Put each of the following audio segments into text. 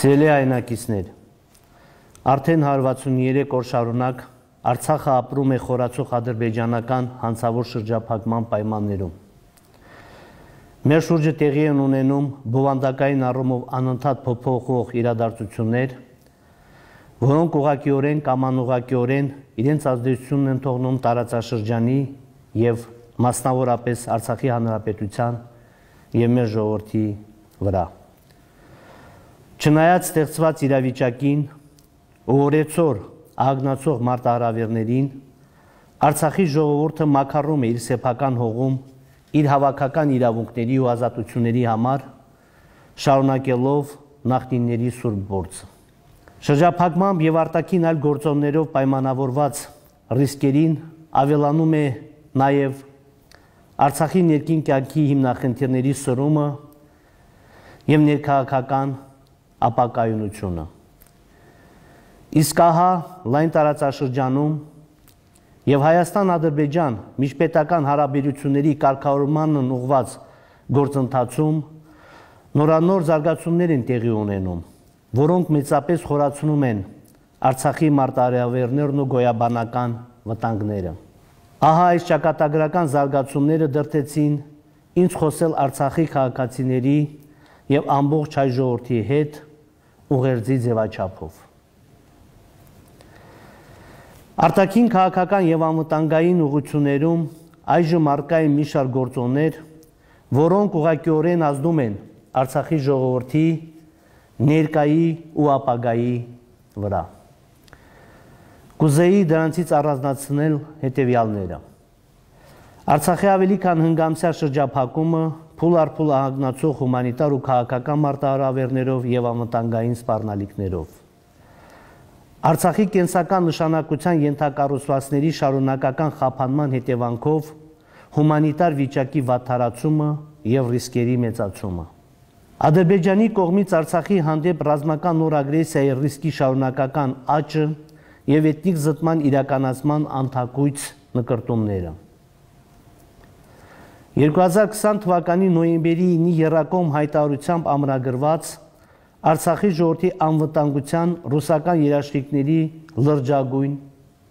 Սիրելի հայրենակիցներ, արդեն 163 օր շարունակ Արցախը ապրում է խորացող ադրբեջանական հանցավոր շրջափակման պայմաններում։ Մեր շուրջը տեղի են ունենում բովանդակային առումով անընդհատ փոփոխվող իրադարձություններ, որոնք ուղղակիորեն կամ անուղղակիորեն իրենց ազդեցությունն են թողնում տարածաշրջանի եւ մասնավորապես Արցախի հանրապետության եւ մեր ժողովրդի վրա։ Չնայած ստեղծված իրավիճակին ու օրեցօր ահագնացող մարտահրավերներին, Արցախի ժողովուրդը մաքարում է իր սեփական հողում իր հավաքական իրավունքների ու ազատությունների համար, շարունակելով նախնիների սուրբ գործը։ Շրջափակմամբ եւ արտաքին այլ գործոններով պայմանավորված ռիսկերին ավելանում է նաեւ Արցախի ներքին կյանքի հիմնախնդիրների սրումը եւ ներքաղաքական ապակայունությունը։ Իսկ ահա լայն տարածաշրջանում եւ Հայաստան-Ադրբեջան միջպետական հարաբերությունների կարգավորմանն ուղղված գործընթացում նորանոր զարգացումներ են տեղի ունենում, որոնք մեծապես խորացնում են Արցախի մարտահրավերներն ու գոյաբանական վտանգները։ Ահա այս ճակատագրական զարգացումները դրդեցին ինձ խոսել Արցախի քաղաքացիների եւ ամբողջ հայ ժողովրդի հետ ուղերձի ձևաչափով։ Արտաքին քաղաքական եւ անվտանգային ուղղություններում այժմ առկա են մի շարք գործոններ, որոնք ուղղակիորեն ազդում են Արցախի ժողովրդի ներկայի ու ապագայի վրա։ Կուզեի դրանցից առանձնացնել հետևյալները։ Արցախի ավելի քան հնգամսյա շրջափակումը փուլ առ փուլ ահագնացող հումանիտար ու քաղաքական մարտահրավերներով եւ անվտանգային սպառնալիքներով։ Արցախի կենսական նշանակության ենթակառուցվածքների շարունակական խափանման հետևանքով հումանիտար վիճակի վատթարացումը եւ ռիսկերի մեծացումը։ Ադրբեջանի կողմից Արցախի հանդեպ ռազմական նոր ագրեսիայի ռիսկի շարունակական աճը եւ էթնիկ զտման իրականացման անթակույց նկրտումները։ 2020 թվականի նոյեմբերի 9-ի եռակողմ հայտարարությամբ ամրագրված Արցախի ժողովրդի անվտանգության ռուսական երաշխիքների լրջագույն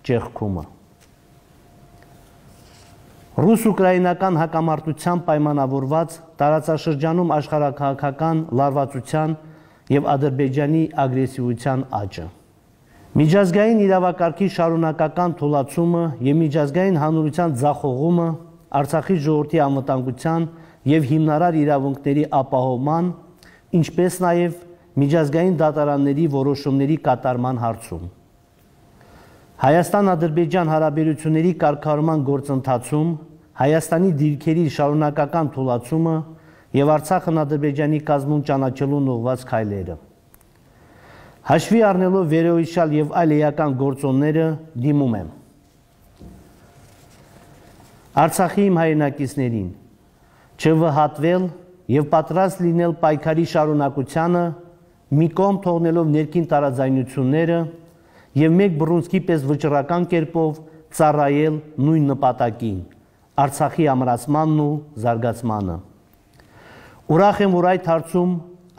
ճեղքումը։ Ռուս-ուկրաինական հակամարտության պայմանավորված տարածաշրջանում աշխարհաքաղաքական լարվածության եւ Ադրբեջանի ագրեսիվության աճը։ Միջազգային իրավակարգի շարունակական թուլացումը եւ միջազգային հանրության ձախողումը Արցախի ժողովրդի անվտանգության եւ հիմնարար իրավունքների ապահովման, ինչպես նաեւ միջազգային դատարանների որոշումների կատարման հարցում։ Հայաստան-Ադրբեջան հարաբերությունների կարգավորման գործընթացում Հայաստանի դիրքերի շարունակական թուլացումը եւ Արցախն Ադրբեջանի կազմում ճանաչելուն ուղղված քայլերը։ Հաշվի առնելով վերոհիշյալ եւ այլ էական գործոնները դիմում եմ Արցախի իմ հայրենակիցներին չվհատվել եւ պատրաստ լինել պայքարի շարունակությանը մի կողմ թողնելով ներքին տարաձայնությունները եւ մեկ բռունցքի պես վճռական կերպով ծառայել նույն նպատակին Արցախի ամրացմանն ու զարգացմանը։ Ուրախ եմ, որ այդ հարցում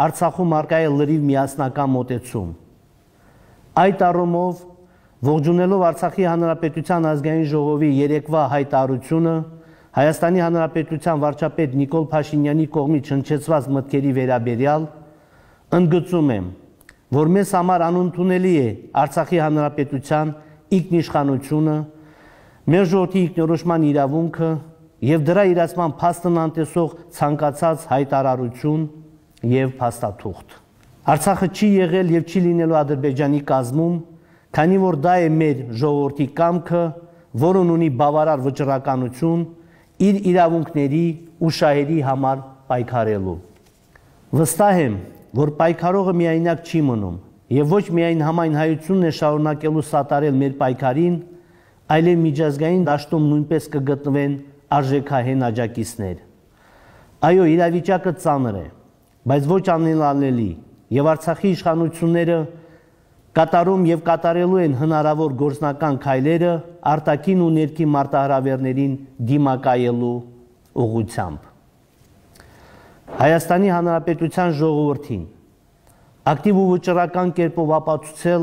Արցախում առկա է լրիվ միասնական մոտեցում։ Այդ առումով ողջունելով Արցախի Հանրապետության ազգային ժողովի երեկվա հայտարարությունը Հայաստանի Հանրապետության վարչապետ Նիկոլ Փաշինյանի կողմից հնչեցված մտքերի վերաբերյալ ընդգծում եմ, որ մեզ համար անընդունելի է Արցախի Հանրապետության ինքնիշխանությունը, մեր ժողովրդի ինքնորոշման իրավունքը եւ դրա իրացման փաստն անտեսող ցանկացած հայտարարություն եւ փաստաթուղթ։ Արցախը չի եղել եւ չի լինելու Ադրբեջանի կազմում, քանի որ դա է մեր ժողովրդի կամքը, որն ունի բավարար վճռականություն իր իրավունքների ու շահերի համար պայքարելու։ Վստահ եմ, որ պայքարողը միայնակ չի մնում եւ ոչ միայն համայն հայությունն է շարունակելու սատարել մեր պայքարին, այլև միջազգային դաշտում նույնպես կգտնվեն արժեքահեն աջակիցներ։ Այո, իրավիճակը ծանր է, բայց ոչ անելանելի եւ Արցախի իշխանությունները կատարում եւ կատարելու են հնարավոր գործնական քայլերը արտաքին ու ներքին մարտահրավերներին դիմակայելու ուղղությամբ։ Հայաստանի Հանրապետության ժողովրդին ակտիվ ու վճռական կերպով ապացուցել,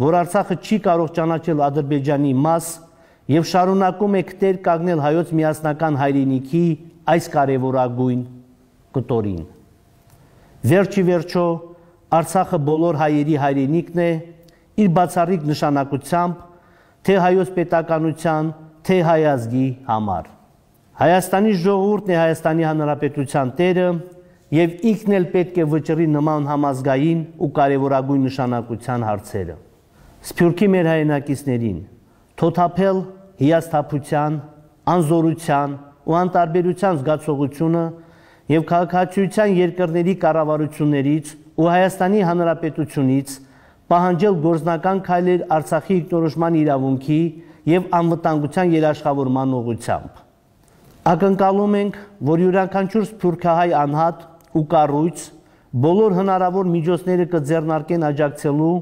որ Արցախը չի կարող ճանաչել Ադրբեջանի մաս եւ շարունակում է կտեր կանգնել հայոց միասնական հայրենիքի այս կարևորագույն կտորին։ Վերջի վերջո Արցախը բոլոր հայերի հայրենիքն է իր բացառիկ նշանակությամբ թե հայոց պետականության, թե հայ ազգի համար։ Հայաստանի ժողովուրդն է Հայաստանի Հանրապետության տերը եւ ինքն էլ պետք է վճռի նման համազգային ու կարևորագույն նշանակության հարցերը։ Սփյուռքի մեր հայրենակիցներին թոթափել հիասթափության, անզորության ու անտարբերության զգացողությունը եւ քաղաքացիության երկրների կառավարություններից ու Հայաստանի Հանրապետությունից պահանջել գործնական քայլեր Արցախի ինքնորոշման իրավունքի եւ անվտանգության երաշխավորման ուղղությամբ։ Ակնկալում ենք, որ յուրաքանչյուր սփյուռքահայ անհատ ու կառույց բոլոր հնարավոր միջոցները կձեռնարկեն աջակցելու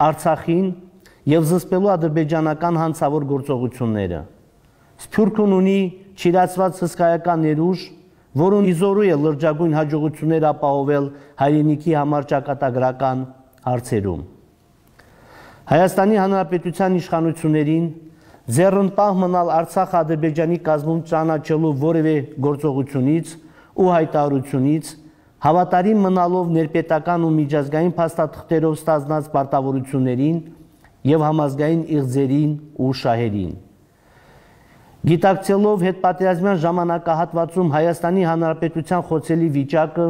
Արցախին եւ զսպելու ադրբեջանական հանցավոր գործողությունները։ Սփյուռքն ունի չիրացված հսկայական ներուժ, որոնց իզորու է լրջագույն հաջողություններ ապահովել հայրենիքի համար ճակատագրական հարցերում։ Հայաստանի Հանրապետության իշխանություններին ձեռնպահ մնալ Արցախը Ադրբեջանի կազմում ճանաչելու որևէ գործողությունից ու հայտարարությունից, հավատարիմ մնալով ներպետական ու միջազգային փաստաթղթերով ստանձնած պարտավորություններին եւ համազգային իղձերին ու շահերին։ Գիտակցելով հետպատերազմյան ժամանակահատվածում Հայաստանի Հանրապետության խոցելի վիճակը,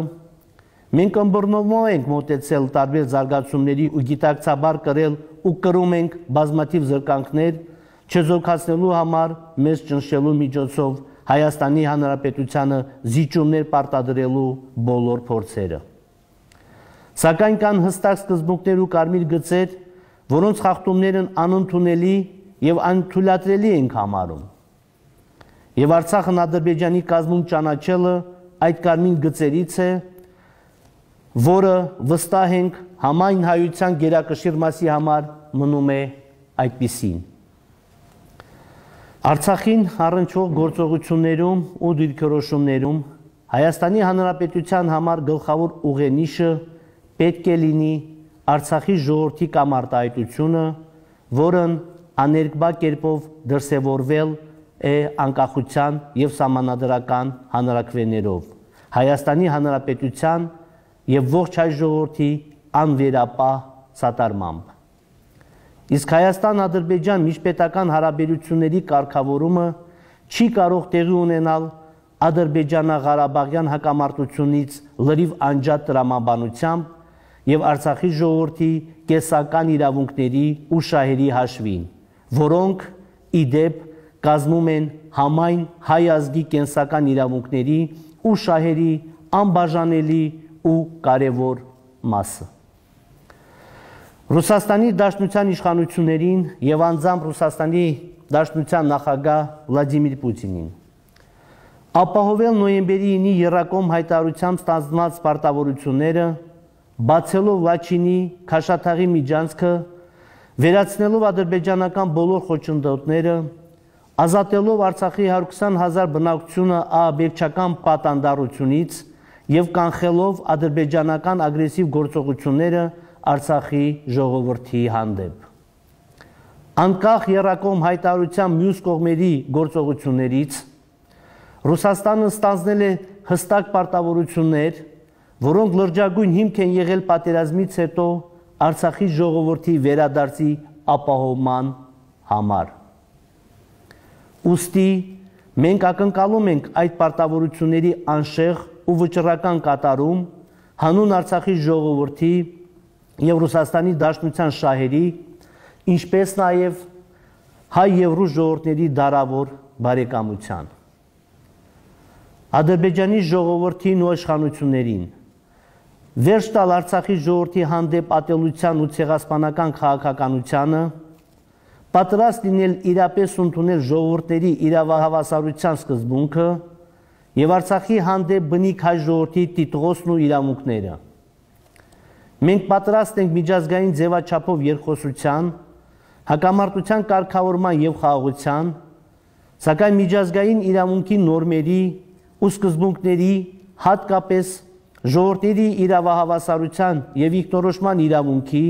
մենք ըմբռնումով ենք մոտեցել տարբեր զարգացումների ու գիտակցաբար կրել ու կրում ենք բազմաթիվ զրկանքներ, չեզոքացնելու համար մեզ ճնշելու միջոցով Հայաստանի Հանրապետությանը զիջումներ պարտադրելու բոլոր փորձերը։ Սակայն կան հստակ սկզբունքներ ու կարմիր գծեր, որոնց խախտումներն անընդունելի եւ անթույլատրելի ենք համարում։ Եվ Արցախն Ադրբեջանի կազմում ճանաչելը այդ կարմիր գծերից է, որը վստահ ենք համայն հայության գերակշիռ մասի համար մնում է այդպիսին։ Արցախին առնչվող գործողություններում ու դիրքորոշումներում Հայաստանի Հանրապետության համար գլխավոր ուղենիշը պետք է լինի Արցախի ժողովրդի կամ արտահայտությունը, որն աներկբա կերպով դրսևորվել է անկախության եւ սահմանադրական հանրակրվեներով, Հայաստանի Հանրապետության եւ ողջ հայ ժողովրդի անվերապահ սատարմամբ։ Իսկ Հայաստան-Ադրբեջան միջպետական հարաբերությունների կարգավորումը չի կարող տեղի ունենալ Ադրբեջանա-Ղարաբաղյան հակամարտությունից լրիվ անջատ տրամաբանությամբ եւ Արցախի ժողովրդի կեսական իրավունքների ու շահերի հաշվին, որոնք ի դեպ կազմում են համայն հայ ազգի կենսական իրավունքների ու շահերի անբաժանելի ու կարևոր մասը։ Ռուսաստանի Դաշնության իշխանություններին եւ անձամբ Ռուսաստանի Դաշնության նախագահ Վլադիմիր Պուտինին ապահովել նոյեմբերի 9-ի եռակողմ հայտարարությամբ ստանձնված պարտավորությունները, բացելով Լաչինի Քաշաթաղի միջանցքը, վերացնելով ադրբեջանական բոլոր խոչընդոտները, ազատելով Արցախի 120,000 բնակչությունը ահաբեկչական պատանդառությունից եւ կանխելով ադրբեջանական ագրեսիվ գործողությունները Արցախի ժողովրդի հանդեպ։ Անկախ եռակողմ հայտարարության մյուս կողմերի գործողություններից Ռուսաստանը ստանձնել է հստակ պարտավորություններ, որոնք լրջագույն հիմք են եղել պատերազմից հետո Արցախի ժողովրդի վերադարձի ապահովման համար։ Ուստի մենք ակնկալում ենք այդ պարտավորությունների անշեղ ու վճռական կատարում հանուն Արցախի ժողովրդի եւ Ռուսաստանի Դաշնության շահերի, ինչպես նաեւ հայ եւ ռուս ժողովրդների դարավոր բարեկամության։ Ադրբեջանի ժողովրդին ու իշխանություններին վերջ տալ Արցախի ժողովրդի հանդեպ ատելության ու ցեղասպանական քաղաքականությանը, պատրաստ լինել իրապես ընդունել ժողովուրդների իրավահավասարության սկզբունքը եւ Արցախի հանդեպ բնիկ հայ ժողովրդի տիտղոսն ու իրավունքները։ Մենք պատրաստ ենք միջազգային ձևաչափով երկխոսության, հակամարտության կարգավորման եւ խաղաղության, սակայն միջազգային իրավունքի նորմերի ու սկզբունքների, հատկապես ժողովրդների իրավահավասարության եւ ինքնորոշման իրավունքի,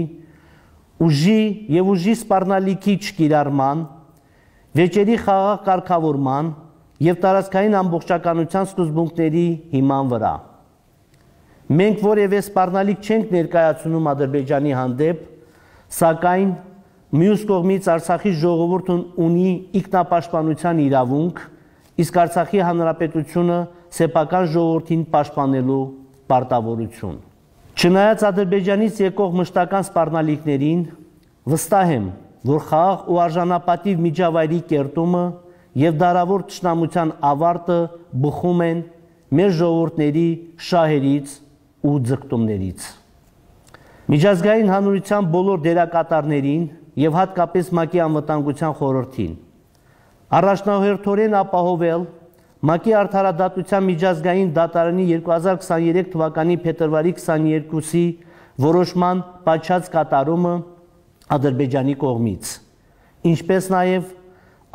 ուժի եւ ուժի սպառնալիքի չկիրառման, վեճերի խաղաղ կարգավորման եւ տարածքային ամբողջականության սկզբունքների հիման վրա։ Մենք որևէ սպառնալիք չենք ներկայացնում Ադրբեջանի հանդեպ, սակայն մյուս կողմից Արցախի ժողովուրդն ունի ինքնապաշտպանության իրավունք, իսկ Արցախի հանրապետությունը սեփական ժողովրդին պաշտպանելու պարտավորություն։ Չնայած Ադրբեջանից եկող մշտական սպառնալիքներին, վստահ եմ, որ խաղաղ ու արժանապատիվ միջավայրի կերտումը եւ դարավոր թշնամության ավարտը բխում են մեր ժողովուրդների շահերից ու ձգտումներից։ Միջազգային հանրության բոլոր դերակատարներին եւ հատկապես ՄԱԿ-ի անվտանգության խորհրդին առաջնահերթորեն ապահովել ՄԱԿ-ի արդարադատության միջազգային դատարանի 2023 թվականի փետրվարի 22-ի որոշման պատշաճ կատարումը Ադրբեջանի կողմից, ինչպես նաեւ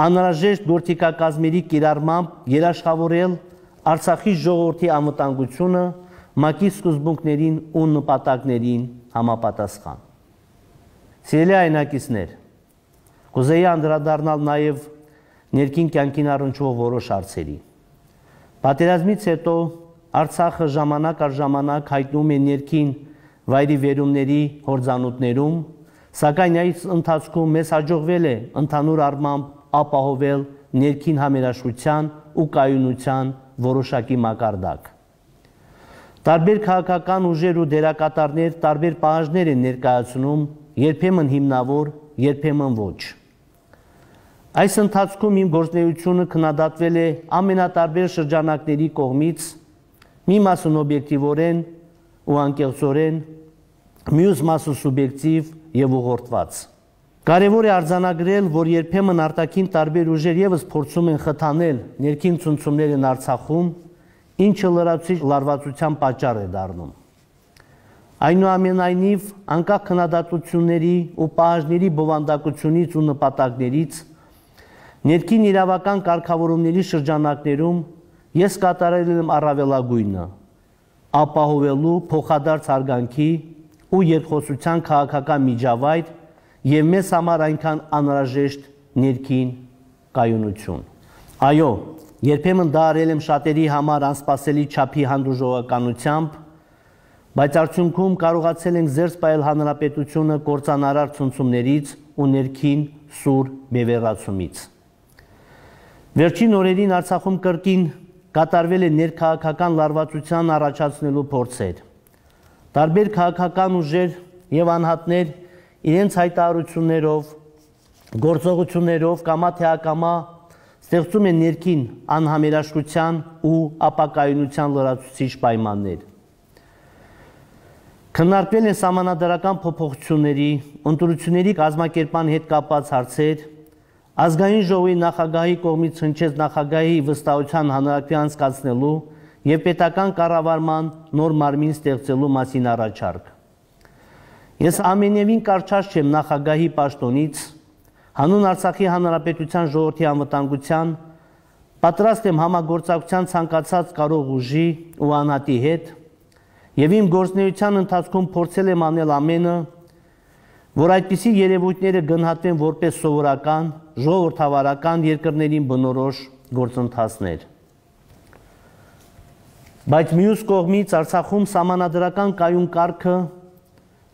անհրաժեշտ գործիքակազմերի կիրառմամբ երաշխավորել Արցախի ժողովրդի անվտանգությունը ՄԱԿ-ի սկզբունքներին ու նպատակներին համապատասխան։ Սիրելի հայրենակիցներ, կուզեի անդրադառնալ նաև ներքին կյանքին առնչվող որոշ հարցերի։ Պատերազմից հետո Արցախը ժամանակ առ ժամանակ հայտնում է ներքին վայրի վերումների հորձանուտներում, սակայն այս ընթացքում մեզ հաջողվել է ընդհանուր առմամբ ապահովել ներքին համերաշխության ու կայունության որոշակի մակարդակ։ Տարբեր քաղաքական ուժեր ու դերակատարներ տարբեր պահանջներ են ներկայացնում, երբեմն հիմնավոր, երբեմն ոչ։ Այս ընթացքում իմ գործունեությունը քննադատվել է ամենատարբեր շրջանակների կողմից, մի մասն օբյեկտիվորեն ու անկեղծորեն, մյուս մասը սուբյեկտիվ եւ ուղղորդված։ Կարևոր է արձանագրել, որ երբեմն արտաքին տարբեր ուժեր եւս փորձում են խթանել ներքին ցնցումներն Արցախում, ինչը լրացուցիչ լարվածության պատճառ է դառնում։ Այնուամենայնիվ, անկախ քննադատությունների ու պահանջների բովանդակությունից ու նպատակներից, ներքին իրավական կարգավորումների շրջանակներում ես կատարել եմ առավելագույնը, ապահովելու փոխադարձ հարգանքի ու երկխոսության քաղաքական միջավայր եւ մեզ համար այնքան անհրաժեշտ ներքին կայունություն։ Այո, երբեմն դա արել եմ շատերի համար անսպասելի չափի հանդուրժողականությամբ, բայց արդյունքում կարողացել ենք զերծ պահել հանրապետությունը կործանարար ցնցումներից ու ներքին սուր բևեռացումից։ Վերջին օրերին Արցախում կրկին կատարվել է ներքաղաքական լարվածության առաջացնելու փորձեր։ Տարբեր քաղաքական ուժեր եւ անհատներ իրենց հայտարարություններով, գործողություններով կամա թե ակամա ստեղծում են ներքին անհամերաշխության ու ապակայունության լրացուցիչ պայմաններ։ Քննարկվել են սահմանադրական փոփոխությունների, ընտրությունների կազմակերպման հետ կապված հարցեր, ազգային ժողովի նախագահի կողմից հնչեց նախագահի վստահության հանրակրի անցկացնելու եւ պետական կառավարման նոր մարմին ստեղծելու մասին առաջարկ։ Ես ամենևին կարճած չեմ նախագահի պաշտոնից, հանուն Արցախի հանրապետության ժողովրդի անվտանգության, պատրաստ եմ համագործակցության ցանկացած կարող ուժի ու անհատի հետ եւ իմ գործունեության ընթացքում փորձել եմ անել ամենը, որ այդպիսի երևույթները գնահատվեն որպես սովորական, ժողովրդավարական երկրներին բնորոշ գործընթացներ։ Բայց մյուս կողմից Արցախում սահմանադրական կայուն կարգը,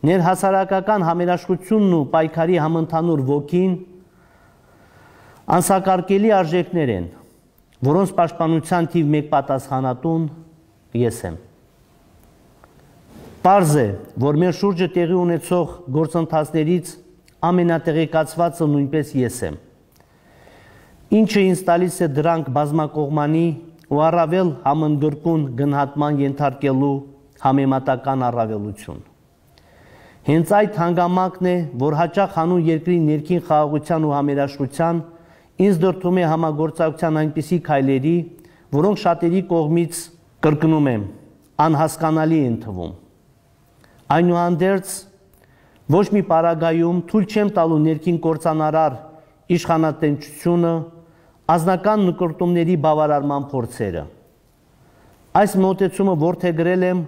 ներհասարակական համերաշխությունն ու պայքարի համընդհանուր ոգին անսակարկելի արժեքներ են, որոնց պաշտպանության թիվ 1 պատասխանատուն ես եմ։ Պարզ է, որ մեր շուրջը տեղի ունեցող գործընթացներից ամենատեղեկացվածը նույնպես ես եմ, ինչը ինձ տալիս է դրանք բազմակողմանի ու առավել համընդգրկուն գնահատման ենթարկելու համեմատական առավելություն։ Հենց այդ հանգամանքն է, որ հաճախ հանուն երկրի ներքին խաղաղության ու համերաշխության ինձ դրդում է համագործակցության այնպիսի քայլերի, որոնք շատերի կողմից, կրկնում եմ, անհասկանալի են թվում։ Այնուհանդերձ ոչ մի պարագայում թույլ չեմ տալու ներքին կործանարար իշխանատենչությունը, ազնական նկրտումների բավարարման փորձերը։ Այս մոտեցումը որդեգրել եմ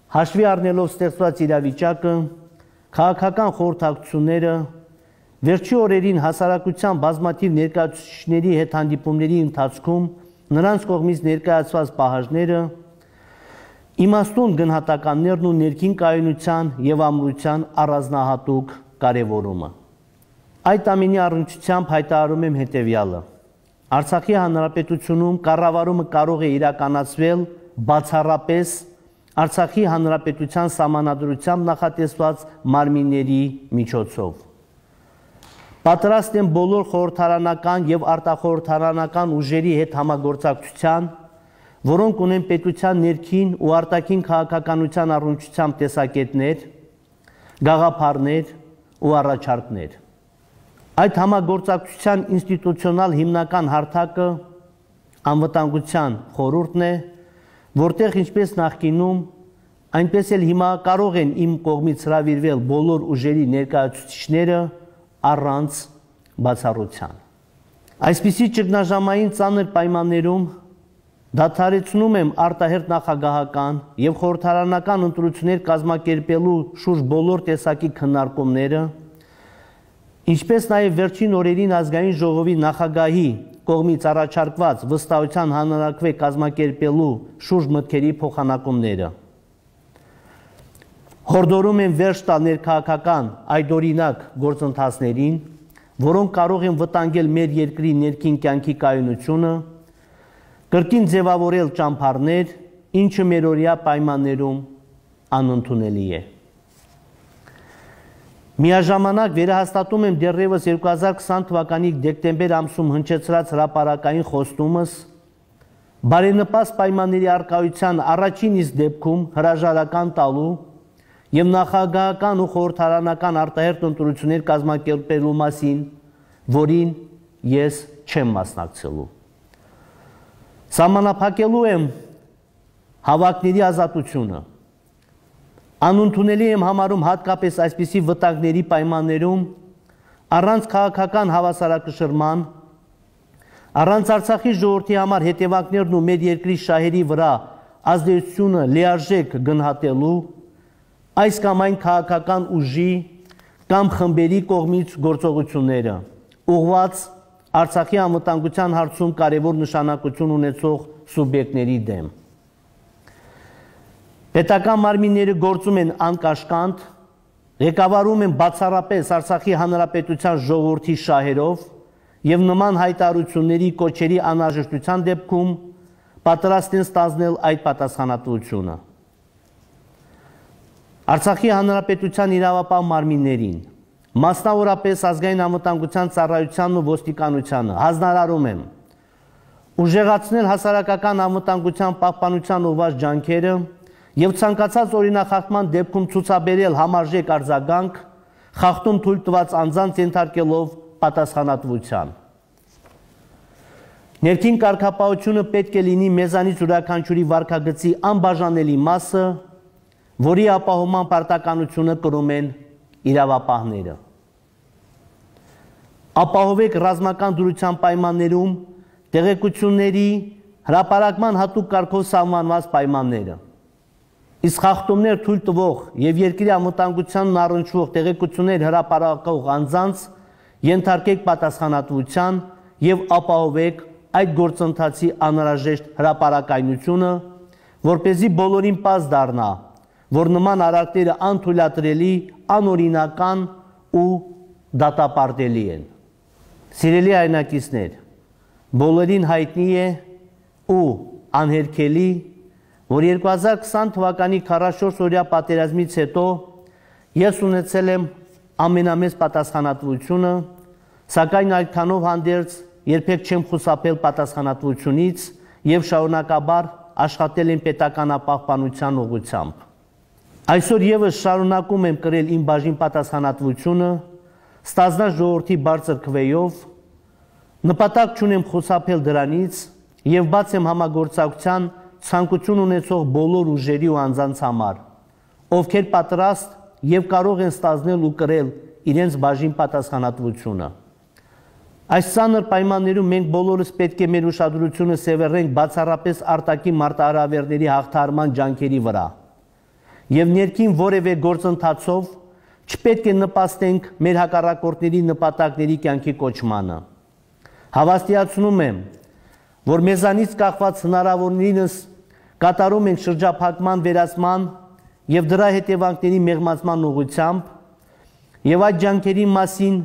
հաշվի առնելով ստեղծված իրավիճակը, քաղաքական խորհրդակցությունները, վերջի օրերին հասարակության բազմաթիվ ներկայացուցիչների հետ հանդիպումների ընթացքում նրանց կողմից ներկայացված պահանջները, իմաստուն գնահատականներն ու ներքին կայունության եւ ամրության առանձնահատուկ կարևորումը։ Այդ ամենի առնչությամբ հայտարարում եմ հետևյալը. Արցախի հանրապետությունում կառավարումը կարող է իրականացվել բացառապես Արցախի հանրապետության սահմանադրությամբ նախատեսված մարմինների միջոցով։ Պատրաստ եմ բոլոր խորհրդարանական եւ արտախորհրդարանական ուժերի հետ համագործակցության, որոնք ունեն պետության ներքին ու արտաքին քաղաքականության առնչությամբ տեսակետներ, գաղափարներ ու առաջարկներ։ Այդ համագործակցության ինստիտուցիոնալ հիմնական հարթակը անվտանգության խորհուրդն է, որտեղ ինչպես նախկինում, այնպես էլ հիմա կարող են իմ կողմից հրավիրվել բոլոր ուժերի ներկայացուցիչները առանց բացառության։ Այսպիսի ճգնաժամային ծանր պայմաններում դադարեցնում եմ արտահերթ նախագահական եւ խորհրդարանական ընտրություններ կազմակերպելու շուրջ բոլոր տեսակի քննարկումները, ինչպես նաև վերջին օրերին ազգային ժողովի նախագահի կողմից առաջարկված վստահության հանրաքվե կազմակերպելու շուրջ մտքերի փոխանակումները։ Հորդորում են վերջ տալ ներքաղաքական այդօրինակ գործընթացներին, որոնք կարող են վտանգել մեր երկրի ներքին կյանքի կայունությունը, կրկին ձևավորել ճամփարներ, ինչը մերօրյա պայմաններում անընդունելի է։ Միաժամանակ վերահաստատում եմ դեռևս 2020 թվականի դեկտեմբեր ամսում հնչեցրած հրապարակային խոստումս բարենպաստ պայմանների առկայության առաջին իսկ դեպքում հրաժարական տալու եւ նախագահական ու խորհրդարանական արտահերթ ընտրություններ կազմակերպելու մասին, որին ես չեմ մասնակցելու։ Սահմանափակելու եմ հավաքների ազատությունը։ Անընդունելի եմ համարում հատկապես այսպիսի վտանգների պայմաններում առանց քաղաքական հավասարակշռման, առանց Արցախի ժողովրդի համար հետևանքներն ու մեր երկրի շահերի վրա ազդեցությունը լիարժեք գնահատելու այս կամ այն քաղաքական ուժի կամ խմբերի կողմից գործողությունները, ուղղված Արցախի անվտանգության հարցում կարևոր նշանակություն ունեցող սուբյեկտների դեմ։ Պետական մարմինները գործում են անկաշկանդ, ղեկավարում են բացառապես Արցախի հանրապետության ժողովրդի շահերով եւ նման հայտարարությունների կոչերի անհրաժեշտության դեպքում պատրաստ են ստանձնել այդ պատասխանատվությունը։ Արցախի հանրապետության իրավապահ մարմիններին, մասնավորապես ազգային անվտանգության ծառայությանն ու ոստիկանությանը հանձնարարում եմ ուժեղացնել հասարակական անվտանգության պահպանության ուղղված ջանքերը եւ ցանկացած օրինախախտման դեպքում ցուցաբերել համարժեք արձագանք, խախտում թույլ տված անձանց ենթարկելով պատասխանատվության։ Ներքին կարգապահությունը պետք է լինի մեզանից յուրաքանչյուրի վարքագծի անբաժանելի մասը, որի ապահովման պարտականությունը կրում են իրավապահները։ Ապահովեք ռազմական դրության պայմաններում տեղեկությունների հրապարակման հատուկ կարգով սահմանված պայմանները։ Իսկ խախտումներ թույլ տվող եւ երկրի անվտանգությանն առնչվող տեղեկություններ հրապարակող անձանց ենթարկեք պատասխանատվության եւ ապահովեք այդ գործընթացի անհրաժեշտ հրապարակայնությունը, որպեսզի բոլորին պարզ դառնա, որ նման արարքները անթույլատրելի, անօրինական ու դատապարտելի են։ Սիրելի հայրենակիցներ, բոլորին հայտնի է ու անհերքելի, որ 2020 թվականի 44-օրյա պատերազմից հետո ես ունեցել եմ ամենամեծ պատասխանատվությունը, սակայն այդքանով հանդերձ երբեք չեմ խուսափել պատասխանատվությունից եւ շարունակաբար աշխատել եմ պետականապահպանության ուղղությամբ։ Այսօր եւս շարունակում եմ կրել իմ բաժին պատասխանատվությունը, ստանձնած ժողովրդի բարձր քվեով, նպատակ չունեմ խուսափել դրանից եւ բաց եմ համագործակցության ցանկություն ունեցող բոլոր ուժերի ու անձանց համար, ովքեր պատրաստ եւ կարող են ստանձնել ու կրել իրենց բաժին պատասխանատվությունը։ Այս ցաներ պայմաններում մենք բոլորս պետք է մեր ուշադրությունը սևեռենք բացառապես արտաքին մարտահրավերների հաղթահարման ջանքերի վրա եւ ներքին որևէ գործընթացով չպետք է նպաստենք մեր հակառակորդների նպատակների կյանքի կոչմանը։ Հավաստիացնում եմ, որ մեզանից կախված հնարավորինս կատարում ենք շրջափակման վերացման եւ դրա հետևանքների մեղմացման ուղղությամբ եւ այդ ջանքերի մասին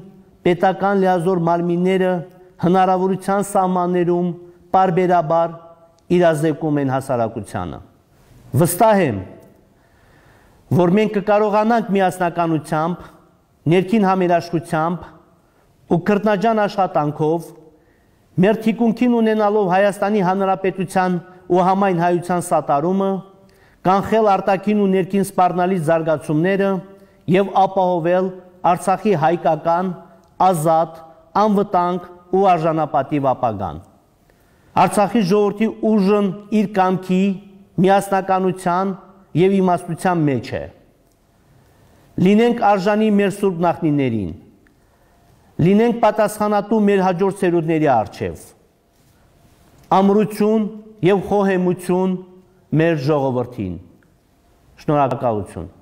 պետական լիազոր մարմինները հնարավորության սահմաններում պարբերաբար իրազեկում են հասարակությանը։ Վստահ եմ, որ մենք կկարողանանք միասնականությամբ, ներքին համերաշխությամբ ու քրտնաջան աշխատանքով մեր թիկունքին ունենալով Հայաստանի Հանրապետության ու համայն հայության սատարումը, կանխել արտաքին ու ներքին սպառնալից զարգացումները եւ ապահովել Արցախի հայկական, ազատ, անվտանգ ու արժանապատիվ ապագան։ Արցախի ժողովրդի ուժն իր կամքի, միասնականության եւ իմաստության մեջ է։ Լինենք արժանի մեր սուրբ նախնիներին, լինենք պատասխանատու մեր հաջորդ սերունդների առջև։ Ամրություն եւ խոհեմություն մեր ժողովրդին։ Շնորհակալություն։